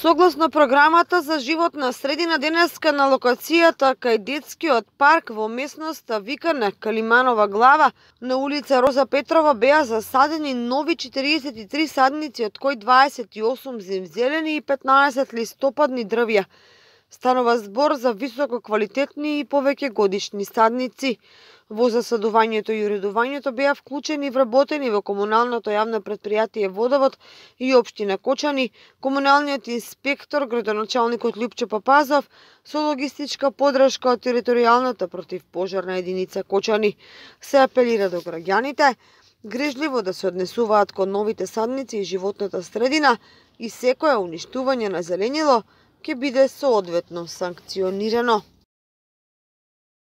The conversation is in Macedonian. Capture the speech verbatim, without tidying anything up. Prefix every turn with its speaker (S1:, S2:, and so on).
S1: Согласно програмата за животна средина, денеска на локацијата кај детскиот парк во местноста Викане, Калиманова глава, на улица Роза Петрова, беа засадени нови четиридесет и три садници, од кои дваесет и осум земзелени и петнаесет листопадни дрвја. Станува збор за високо квалитетни и повеќе годишни садници. Во засадувањето и уредувањето беа вклучени и вработени во комуналното јавно претпријатие Водовод и општина Кочани, комуналниот инспектор, градоначалникот Љупчо Папазов, со логистичка подршка од територијалната противпожарна единица Кочани. Се апелира до граѓаните грижливо да се однесуваат кон новите садници и животната средина и секое уништување на зеленило ќе биде соодветно санкционирано.